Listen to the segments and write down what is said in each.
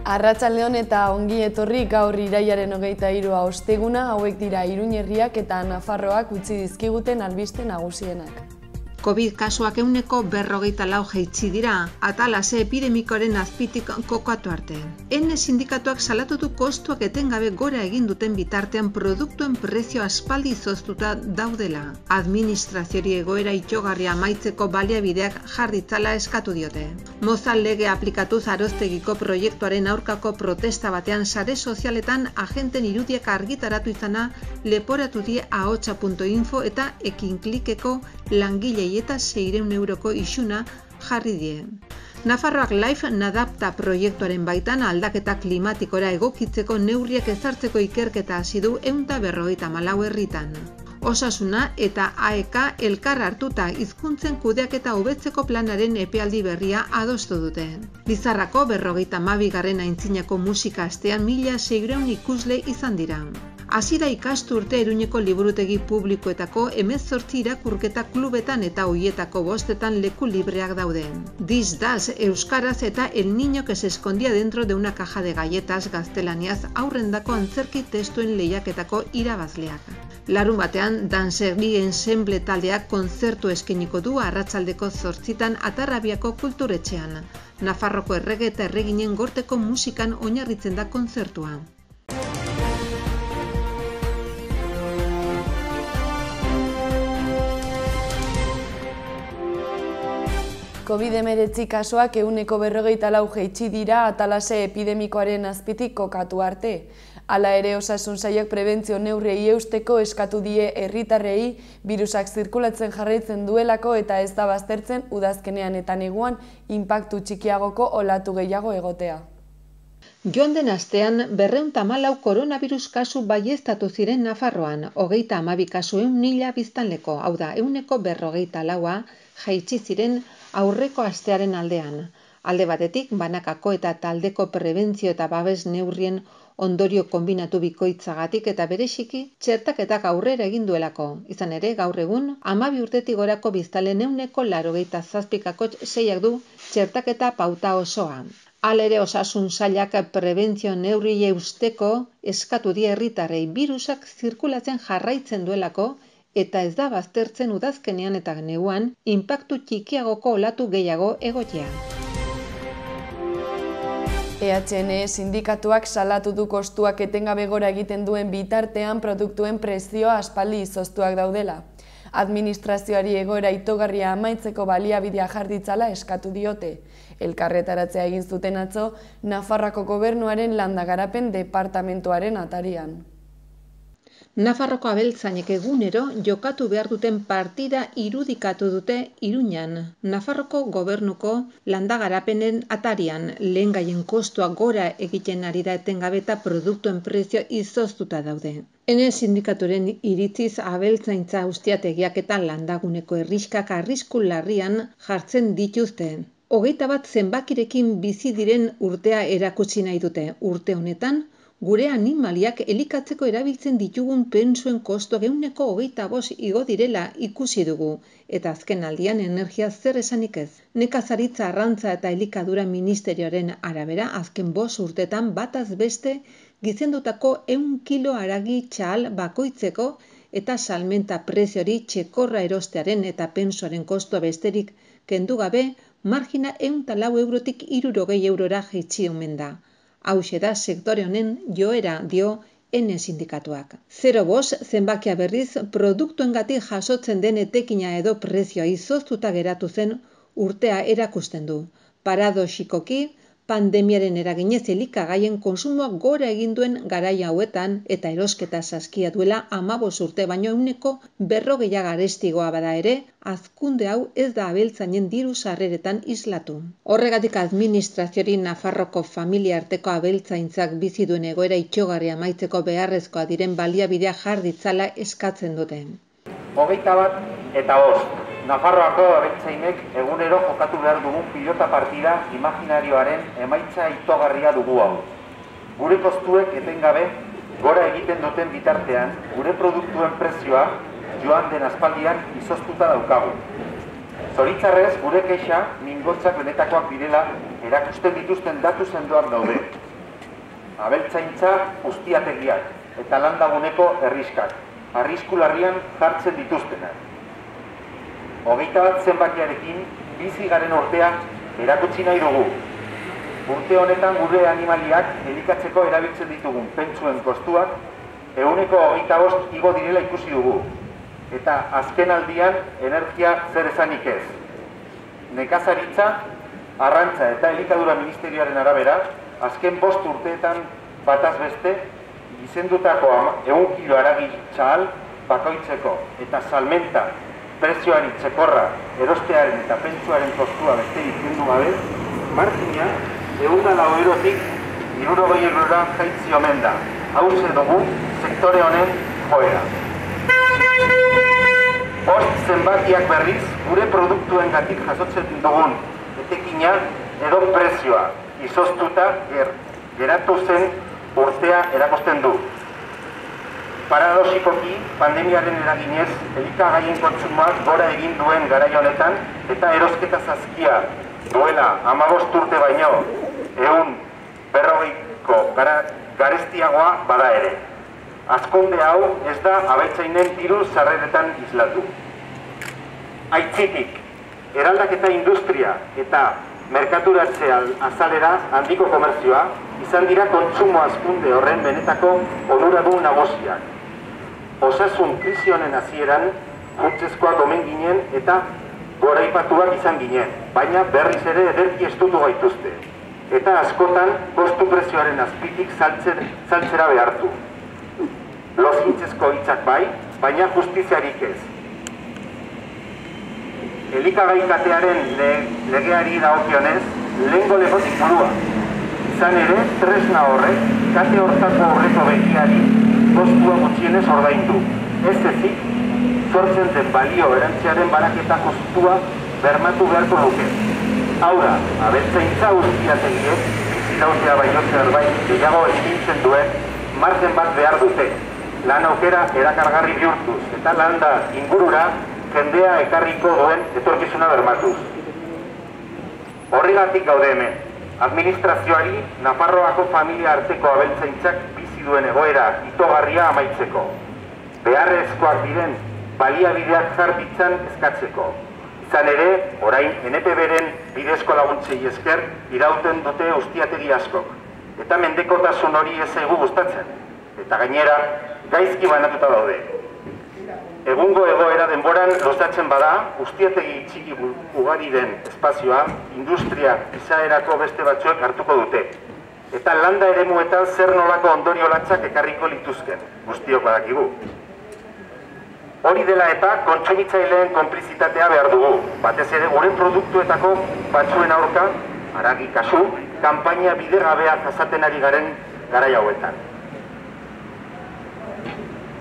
Arratsaldeon eta ongi etorri gaur irailaren 23 osteguna, hauek dira Iruin herriak eta Nafarroak utzi dizkiguten albiste nagusienak. Covid kasuak 154 jaitsi dira, atalase epidemikoaren azpitik kokatu arte. Ene sindikatuak salatu du kostuak etengabe gora egin duten bitartean produktuen prezio aspaldi izoztuta daudela. Administraziori egoera itxogarria amaitzeko baliabideak jar ditzala eskatu diote. Mozal lege aplikatuz Aroztegiko proiektuaren aurkako protesta batean sare sozialetan agenten irudiak argitaratu izana leporatu die ahotsa.info eta ekinklikeko langilei eta 600 euroko isuna jarri die. Nafarroak Life Nadapta proiektuaren baitan aldaketa klimatikora egokitzeko neurriak ezartzeko ikerketa hasi du 154 herritan. Osasuna eta AEK elkar hartuta hizkuntzen kudeaketa hobetzeko planaren epealdi berria adostu dute. Lizarrako 52. aintzinako musika astean 1600 ikusle izan dira. Hasi da ikasturte Iruñeko liburutegi publikoetako 18 irakurketa klubetan eta hoietako 5etan leku libreak daude. This Das euskaraz eta El niño que se escondía dentro de una caja de galletas gaztelaniaz aurrendako antzerki testuen lehiaketako irabazleak. Larunbatean Dansegui ensemble taldeak kontzertu eskainiko du arratsaldeko 8 Atarrabiako kulturetxean. Nafarroko errege eta erreginen gorteko musikan oinarritzen da kontzertua. Covid-19 kasuak 154 jaitsi dira atalase epidemikoaren azpitik kokatu arte. Hala ere osasun sailak prebentzio neurriei eusteko eskatu die herritarrei birusak zirkulatzen jarraitzen duelako eta ez da baztertzen udazkenean eta neguan inpaktu txikiagoko olatu gehiago egotea. Joan den astean 214 koronavirus kasu baieztatu ziren Nafarroan, 32 kasu 1.000 biztanleko, hau da 154 jaitsi ziren aurreko astearen aldean. Alde batetik, banakako eta taldeko prebentzio eta babes neurrien ondorio konbinatu bikoitzagatik eta bereziki txertaketak aurrera egin duelako. Izan ere, gaur egun, 12 urtetik gorako biztanleen 87,6 du txertaketa pauta osoa. Hala ere osasun sailak prebentzio neurriei eusteko eskatu die herritarrei birusak zirkulatzen jarraitzen duelako eta ez da baztertzen udazkenean eta neguan inpaktu txikiagoko olatu gehiago egotea. EHN sindikatuak salatu du kostuak etengabe gora egiten duen bitartean produktuen prezioa aspaldi izoztuak daudela. Administrazioari egoera itogarria amaitzeko baliabidea jar ditzala eskatu diote. Elkarretaratzea egin zuten atzo Nafarroako gobernuaren landagarapen departamentuaren atarian. Nafarroko abeltzainek egunero jokatu behar duten partida irudikatu dute Iruñan. Nafarroko gobernuko landagarapenen atarian lehengaien kostua gora egiten ari da etengabe eta produktuen prezio izoztuta daude. Ene sindikaturen iritziz abeltzaintza ustiategiak eta landaguneko herriskak arrisku larrian jartzen dituzte. 21 zenbakirekin bizi diren urtea erakutsi nahi dute. Urte honetan, gure animaliak elikatzeko erabiltzen ditugun pentsuen kostuak 125 igo direla ikusi dugu, eta azken aldian energia zer esanik ez. Nekazaritza, arrantza eta elikadura ministerioaren arabera azken 5 urtetan bataz beste gizendutako 100 kilo haragi txahal bakoitzeko eta salmenta preziori txekorra erostearen eta pentsuaren kostua besterik kendu gabe margina 104 eurotik 60 eurora jaitsi omen da. Hauxe da sektore honen joera dio ene sindikatuak. 0,5 zenbakia berriz produktuengatik jasotzen den etekina edo prezioa izoztuta geratu zen urtea erakusten du. Paradoxikoki, pandemiaren eraginez elikagaien konsumoa gora egin duen garai hauetan eta erosketa saskia duela 15 urte baino 140 garestigoa bada ere, hazkunde hau ez da abeltzainen diru sarreretan islatu. Horregatik administraziori Nafarroko familia arteko abeltzaintzak bizi duen egoera itxogarria amaitzeko beharrezkoa diren baliabidea jar ditzala eskatzen dute. 21 eta 5. Nafarroako abeltzainek egunero jokatu behar dugun pilota partida imaginarioaren emaitza itogarria dugu hau. Gure kostuek etengabe gora egiten duten bitartean, gure produktuen prezioa joan den aspaldian izoztuta daukagu. Zoritzarrez, gure kexa mingotzak benetakoak direla erakusten dituzten datu sendoak daude. abeltzaintza ustiategiak eta landaguneko herriskak, arrisku larrian jartzen dituztenak. 21 zenbakiarekin bizi garen urtea erakutsi nahi dugu. Urte honetan gure animaliak elikatzeko erabiltzen ditugun pentsuen kostuak 25% igo direla ikusi dugu. Eta azken aldian energia zer esanik ez. Nekazaritza, arrantza eta elikadura ministerioaren arabera, azken 5 urteetan bataz beste, gizendutako 100 kilo haragi txahal bakoitzeko eta salmenta prezioari txekorra erostearen eta pentsuaren kostua besterik kendu gabe, margina 104 eurotik 60 eurora jaitsi omen da. Hauxe dugu sektore honen joera. Bost zenbakiak berriz gure produktuengatik jasotzen dugun etekina edo prezioa izoztuta geratu zen urtea erakusten du. Paradoxikoki, pandemiaren eraginez, elikagaien kontsumoak gora egin duen garai honetan eta erosketa zazkia duela 15 urte baino 140ko garestiagoa bada ere. Azkonde hau ez da abeltzainen diru sarreretan islatu. Aitzitik, eraldaketa industria eta merkaturatze azalera handiko komerzioa izan dira kontsumo hazkunde horren benetako onuradun nagusiak. Osasun krisi honen hasieran funtsezkoak omen ginen eta goraipatuak izan ginen, baina berriz ere ederki estutu gaituzte. Eta askotan kostu prezioaren azpitik saltzera behartu. Lozintzezko hitzak bai, baina justiziarik ez. Elikagai katearen legeari dagokionez, lehengo lepotik burua. Izan ere, tresna horrek, kate hortako horreko begiari kostua gutxienez ordaindu. Ez ezik, sortzen den balio erantziaren baraketa kostua bermatu beharko luke. Hau da, abeltzaintza ustiategiek, bizirautea baino zerbait gehiago ekintzen duen, margen bat behar dute. Lan aukera erakargarri bihurtuz eta landa ingurura jendea ekarriko duen etorkizuna bermatuz. Horregatik gaude hemen, administrazioari Nafarroako familia arteko abeltzaintzak bizi duen egoera itogarria amaitzeko. Beharrezkoak diren baliabideak jar ditzan eskatzeko. Izan ere, orain NPB-ren bidezko laguntzei esker irauten dute ustiategi askok. Eta mendekotasun hori ez zaigu gustatzen. Eta gainera, gaizki banatuta daude. Egungo egoera denboran luzatzen bada, ustiategi txiki ugari den espazioa, industria izaerako beste batzuek hartuko dute. Eta landa eremuetan zer nolako ondorio latzak ekarriko lituzken, guztiok badakigu. Hori dela eta kontsumitzaileen konplizitatea behar dugu, batez ere gure produktuetako batzuen aurka, haragi kasu, kanpaina bidegabea jasaten ari garen garai hauetan.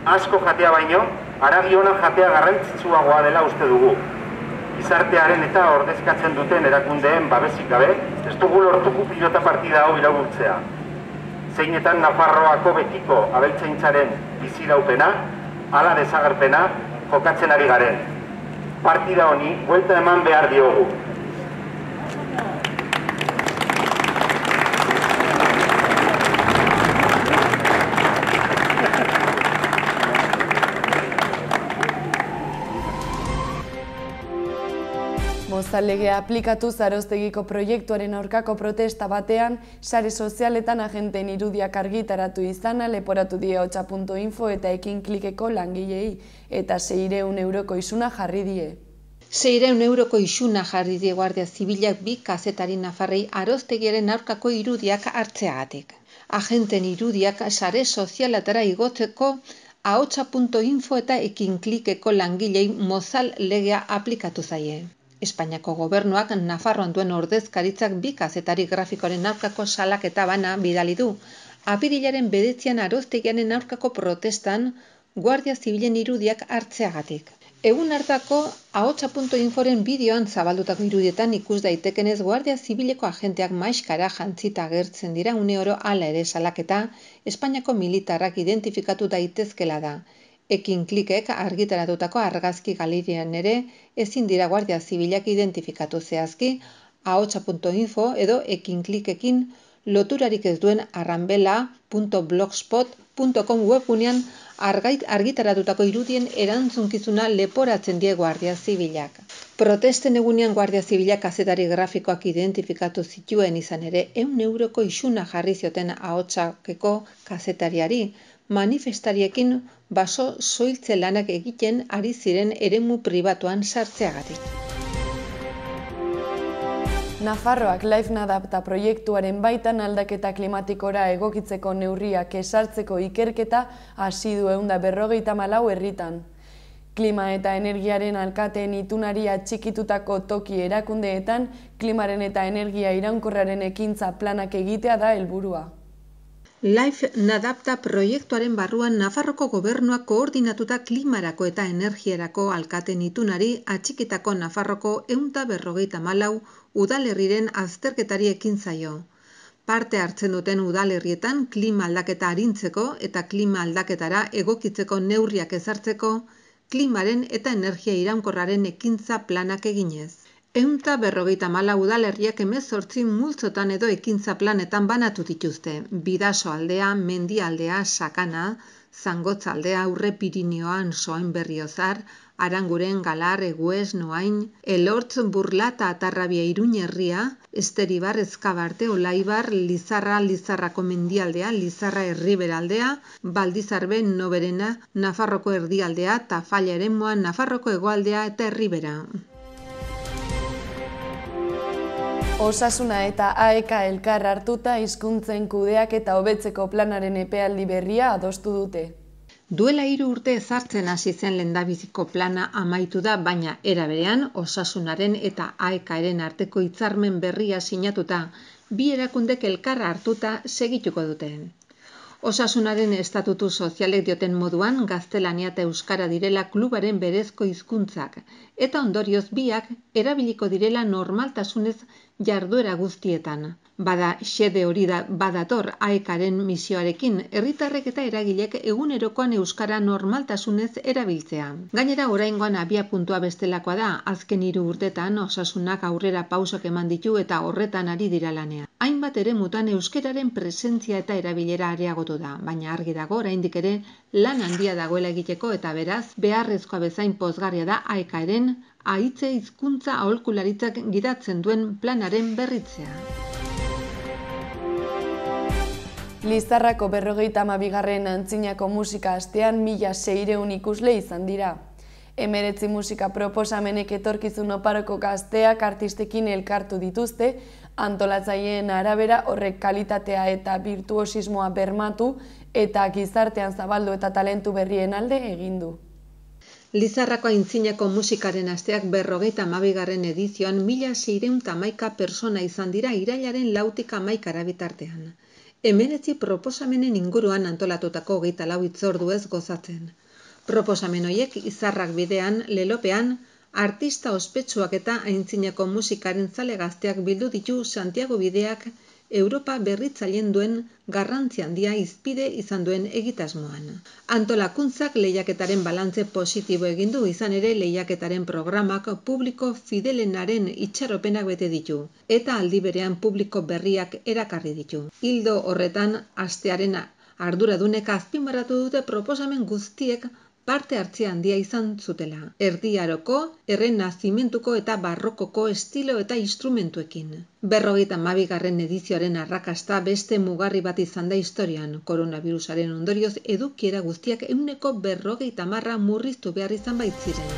Asko jatea baino, haragi ona jatea garrantzitsuagoa dela uste dugu. Gizartearen eta ordezkatzen duten erakundeen babesik gabe, ez dugu lortuko pilota partida hau iraultzea. Zeinetan Nafarroako betiko abeltzaintzaren biziraupena, hala desagerpena jokatzen ari garen. Partida honi buelta eman behar diogu. Mozal-legea aplikatu Zaroztegiko proiektuaren aurkako protesta batean, sare sozialetan agenteen irudiak argitaratu izana leporatu die hotsa.info eta Ekinklikeko langilei, eta 600 euroko isuna jarri die. 600 euroko isuna jarri die Guardia Zibilak 2 kazetari nafarrei Zaroztegiaren aurkako irudiak hartzeagatik. Agenteen irudiak sare sozialetara igotzeko ahotsa.info eta Ekinklikeko langilei Mozal-legea aplikatu zaie. Espainiako gobernuak Nafarroan duen ordezkaritzak 2 kazetari grafikoaren aurkako salaketa bana bidali du. Apirilaren 9an Zaroztegiaren aurkako protestan Guardia Zibilen irudiak hartzeagatik. Egun hartako ahotsa.inforen bideoan zabaldutako irudietan ikus daitekenez Guardia Zibileko agenteak maiskara jantzita agertzen dira uneoro, hala ere salaketa Espainiako militarrak identifikatu daitezkela da. Ekinklikek argitaratutako argazki galerian ere ezin dira Guardia Zibilak identifikatu zehazki ahotsa.info edo Ekinklikekin Loturarik ez duen arranbela.blogspot.com webgunean argitaratutako irudien erantzunkizuna leporatzen die Guardia Zibilak. Protesten egunean Guardia Zibilak kazetari grafikoak identifikatu zituen izan ere 100 euroko isuna jarri zioten ahotsakeko kazetariari, manifestariekin baso soiltze lanak egiten ari ziren eremu pribatuan sartzeagatik. Nafarroak Life Nadapta proiektuaren baitan aldaketa klimatikora egokitzeko neurriak ezartzeko ikerketa hasi du 154 herritan. Klima eta energiaren alkateen itunari atxikitutako toki erakundeetan klimaren eta energia iraunkorraren ekintza planak egitea da helburua. Life Nadapta proiektuaren barruan Nafarroko gobernuak koordinatuta klimarako eta energiarako alkateen itunari atxikitako Nafarroko 154 udalerriren azterketari ekin zaio. Parte hartzen duten udalerrietan klima aldaketa arintzeko eta klima aldaketara egokitzeko neurriak ezartzeko, klimaren eta energia iraunkorraren ekintza planak eginez. 154 udalerriak 18 multzotan edo ekintza planetan banatu dituzte. Bidasoaldea, Mendialdea, Sakana, Zangotzaldea, Aurre Pirinioan, Soain Berriozar, Aranguren, Galar, Egues, Noain, Elortz, Burlata, Atarrabia, Iruñerria, Esteribar, Ezkabarte, Olaibar, Lizarra, Lizarrako Mendialdea, Lizarra Erriberaldea, Baldizarbe, Noberena, Nafarroko Erdialdea, Tafalla Eremua, Nafarroko Hegoaldea eta Erribera. Osasuna eta AEK elkar hartuta hizkuntzen kudeak eta hobetzeko planaren epealdi berria adostu dute. Duela 3 urte ezartzen hasi zen lehendabiziko plana amaitu da, baina era berean Osasunaren eta AEKaren arteko hitzarmen berria sinatuta, bi erakundek elkar hartuta segituko dute. Osasunaren estatutu sozialek dioten moduan gaztelania eta euskara direla klubaren berezko hizkuntzak, eta ondorioz biak erabiliko direla normaltasunez jarduera guztietan. Bada, xede hori da badator AEKaren misioarekin, herritarrek eta eragilek egunerokoan euskara normaltasunez erabiltzea. Gainera, oraingoan abiapuntua bestelakoa da, azken 3 urtetan Osasunak aurrera pausak eman ditu eta horretan ari dira lanean. Hainbat eremutan euskararen presentzia eta erabilera areagotu da, baina argi dago oraindik ere lan handia dagoela egiteko eta beraz, beharrezkoa bezain pozgarria da AEKaren ahitze hizkuntza aholkularitzak gidatzen duen planaren berritzea. Lizarrako 52. antzinako musika astean 1600 ikusle izan dira. 19 musika proposamenek etorkizun oparoko gazteak artistekin elkartu dituzte, antolatzaileen arabera horrek kalitatea eta birtuosismoa bermatu eta gizartean zabaldu eta talentu berrien alde egin du. Lizarrako aintzinako musikaren asteak 52. edizioan 1611 persona izan dira irailaren 4tik 11 bitartean. 19 proposamenen inguruan antolatutako 24 hitzorduez gozatzen. Proposamen horiek izarrak bidean, lelopean, artista ospetsuak eta aintzinako musikaren zale gazteak bildu ditu Santiago bideak Europa berritzaileen duen garrantzi handia hizpide izan duen egitasmoan. Antolakuntzak lehiaketaren balantze positibo egin du, izan ere lehiaketaren programak publiko fidelenaren itxaropenak bete ditu, eta aldi berean publiko berriak erakarri ditu. Ildo horretan, astearen arduradunek azpimarratu dute proposamen guztiek parte hartzea handia izan zutela. Erdi Aroko, errenazimentuko eta barrokoko estilo eta instrumentuekin. 52. edizioaren arrakasta beste mugarri bat izan da historian. Koronavirusaren ondorioz edukiera guztiak 150 murriztu behar izan baitziren.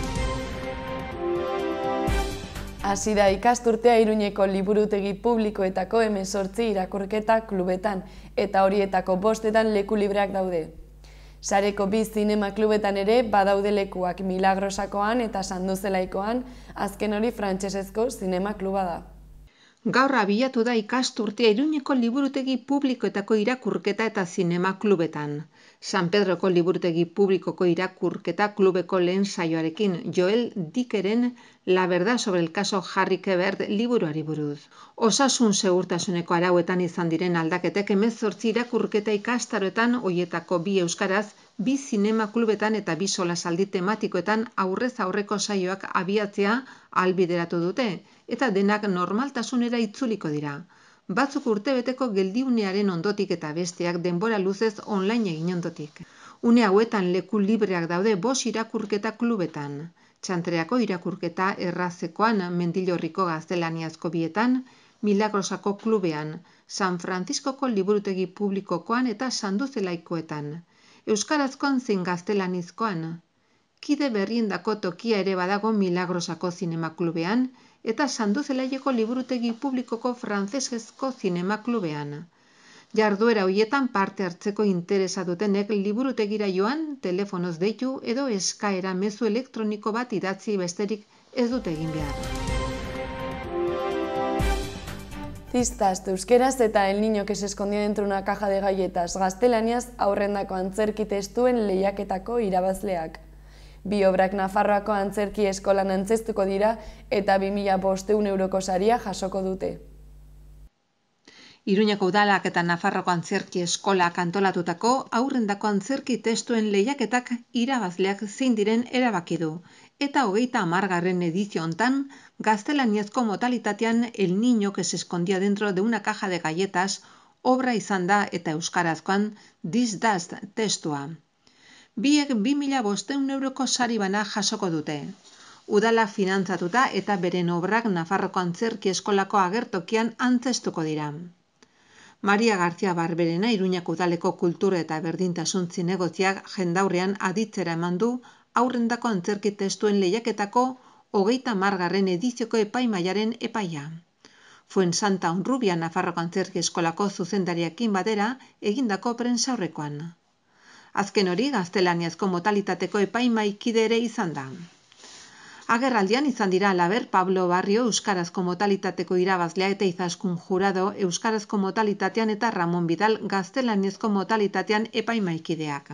Hasi da ikasturtea Iruñeko liburutegi publikoetako 18 irakurketa klubetan eta horietako 5etan leku libreak daude. Sareko 2 zinema klubetan ere badaude lekuak, Milagrosakoan eta Sanduzelaikoan, azken hori frantsesezko zinema kluba da. Gaur abiatu da ikasturtea Iruñeko liburutegi publikoetako irakurketa eta zinema klubetan. San Pedroko liburutegi publikoko irakurketa klubeko lehen saioarekin Joel Dickeren La verdad sobre el caso Harry Quebert liburuari buruz. Osasun segurtasuneko arauetan izan diren aldaketek 18 irakurketa ikastaroetan, hoietako 2 euskaraz, 2 zinema klubetan eta 2 solasaldi tematikoetan aurrez aurreko saioak abiatzea ahalbideratu dute, eta denak normaltasunera itzuliko dira. batzuk urtebeteko geldiunearen ondotik eta besteak denbora luzez online egin ondotik. Une hauetan leku libreak daude 5 irakurketa klubetan. Txantreako irakurketa errazekoan, Mendillorriko gaztelaniazko bietan, Milagrosako klubean, San Franciscoko liburutegi publikokoan eta Sanduzelaikoetan, euskarazkoan zein gaztelanizkoan. Kide berriendako tokia ere badago Milagrosako zinema klubean eta Sanduzelaieko liburutegi publikoko frantsesezko zinema klubean. Jarduera hoietan parte hartzeko interesa dutenek liburutegira joan, telefonoz deitu edo eskaera mezu elektroniko bat idatzi besterik ez dute egin behar. Cistas, euskeraz eta El niño que se escondía dentro una caja de galletas gaztelaniaz aurrendako antzerki testuen lehiaketako irabazleak. Bi obrak Nafarroako antzerki eskolan antzeztuko dira eta 2.500 euroko saria jasoko dute. Iruñako udalak eta Nafarroko antzerki eskolak antolatutako aurrendako antzerki testuen lehiaketak irabazleak zein diren erabaki du. Eta 30. edizio hontan, gaztelaniazko modalitatean El niño que se escondía dentro de una caja de galletas obra izan da eta euskarazkoan This Dust testua. Biek 2.500 euroko sari bana jasoko dute. Udala finantzatuta eta beren obrak Nafarroko antzerki eskolako agertokian antzestuko dira. Maria García Barberena Iruñako udaleko kultura eta berdintasun zinegotziak jendaurrean aditzera eman du aurrendako antzerki testuen lehiaketako 30. edizioko epaimahaiaren epaia. Fuensanta Honrubia Nafarroko antzerki eskolako zuzendariakin batera egindako prentsaurrekoan. Azken hori gaztelaniazko modalitateko epaimahaikide ere izan da. Agerraldian izan dira halaber Pablo Barrio euskarazko modalitateko irabazlea eta Izaskun Jurado euskarazko modalitatean eta Ramon Vidal gaztelaniazko modalitatean epaimahaikideak.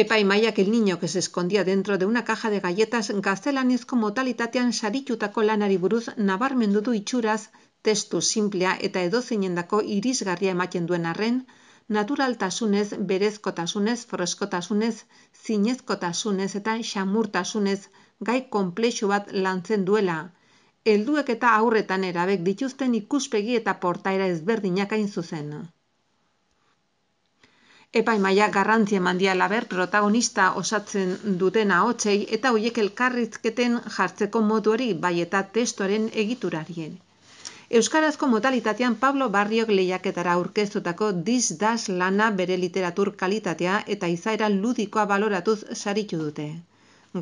Epaimahaiak El niño que se escondía dentro de una caja de galletas gaztelaniazko modalitatean saritutako lanari buruz nabarmendu du itxuraz, testu simplea eta edozeinendako irisgarria ematen duen arren, naturaltasunez, berezkotasunez, freskotasunez, zinezkotasunez eta xamurtasunez gai konplexu bat lantzen duela. Helduek eta haurretan erabek dituzten ikuspegi eta portaera ezberdinak hain zuzen. Epaimahaia garrantzia eman die halaber protagonista osatzen duten ahotsei eta horiek elkarrizketen jartzeko moduari bai eta testuaren egiturarien. Euskarazko modalitatean Pablo Barriok lehiaketara aurkeztutako This Dust lana bere literatur kalitatea eta izaera ludikoa baloratuz saritu dute.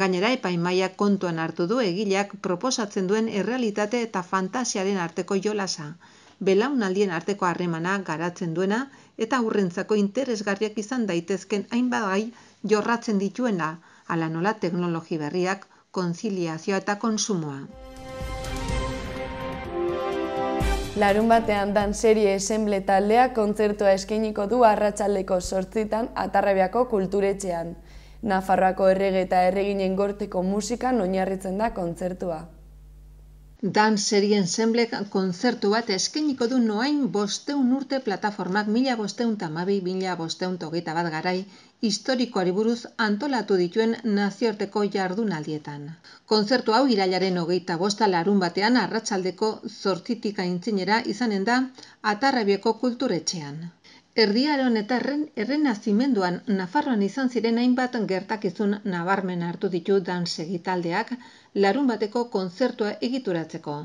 Gainera epaimahaiak kontuan hartu du egileak proposatzen duen errealitate eta fantasiaren arteko jolasa, belaunaldien arteko harremana garatzen duena eta aurrentzako interesgarriak izan daitezken hainbat gai jorratzen dituena, hala nola teknologi berriak, konziliazioa eta kontsumoa. Larunbatean dan serie Ensemble taldea kontzertua eskainiko du arratsaldeko 8 Atarrabiako kulturetxean. Nafarroako errege eta erreginen gorteko musikan oinarritzen da kontzertua. Dan serie Ensemblek kontzertu bat eskainiko du noain 500 urte plataformak 1512-1521 garai historikoari buruz antolatu dituen nazioarteko jardunaldietan. Kontzertu hau irailaren 25 larunbatean arratsaldeko 8 aintzinera izanen da Atarrabiako kulturetxean. Erdiaron eta errenazimenduan Nafarroan izan ziren hainbat gertakizun nabarmen hartu ditu dansegi taldeak larunbateko kontzertua egituratzeko.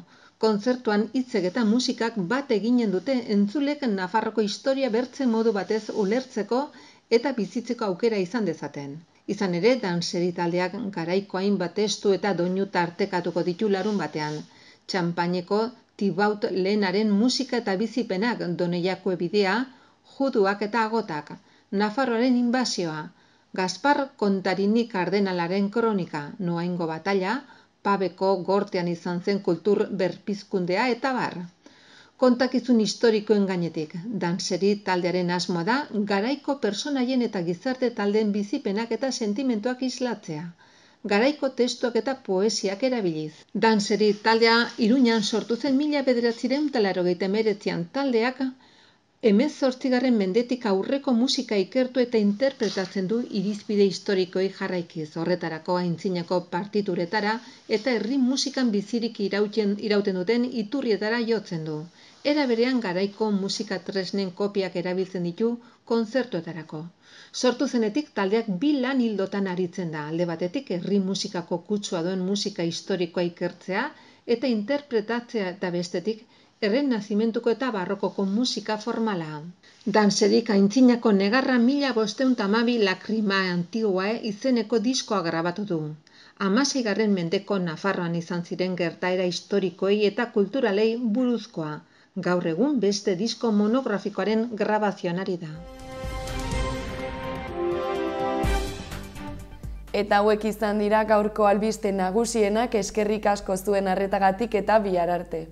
Kontzertuan hitzek eta musikak bat eginen dute entzulek Nafarroko historia bertze modu batez ulertzeko eta bizitzeko aukera izan dezaten. Izan ere, danseri taldeak garaiko hainbat testu eta doinu tartekatuko ditu larunbatean. Txanpaineko Tibaut lehenaren musika eta bizipenak, Doneiako bidea, Juduak eta agotak, Nafarroaren inbasioa, Gaspar Kontarini kardenalaren kronika, Noaingo batalla, Pabeko gortean izan zen kultur berpizkundea eta bar. Kontakizun historikoen gainetik, danseri taldearen asmoa da garaiko personaien eta gizarte taldeen bizipenak eta sentimentuak islatzea. Garaiko testuak eta poesiak erabiliz. Danseri taldea Iruñan sortu zen 1989 taldeak 18. mendetik aurreko musika ikertu eta interpretatzen du irizpide historikoei jarraikiz, horretarako aintzinako partituretara eta herri musikan bizirik irauten duten iturrietara jotzen du. Era berean garaiko musika tresnen kopiak erabiltzen ditu kontzertuetarako. Sortu zenetik taldeak 2 lan ildotan aritzen da, alde batetik herri musikako kutsua duen musika historikoa ikertzea eta interpretatzea eta bestetik errenazimentuko eta barrokoko musika formala. Danserik aintzinako negarra 1512 Lacrima Antiguae izeneko diskoa grabatu du. 16. mendeko Nafarroan izan ziren gertaera historikoei eta kulturalei buruzkoa. Gaur egun beste disko monografikoaren grabazioan ari da. Eta hauek izan dira gaurko albiste nagusienak, eskerrik asko zuen arretagatik eta bihar arte.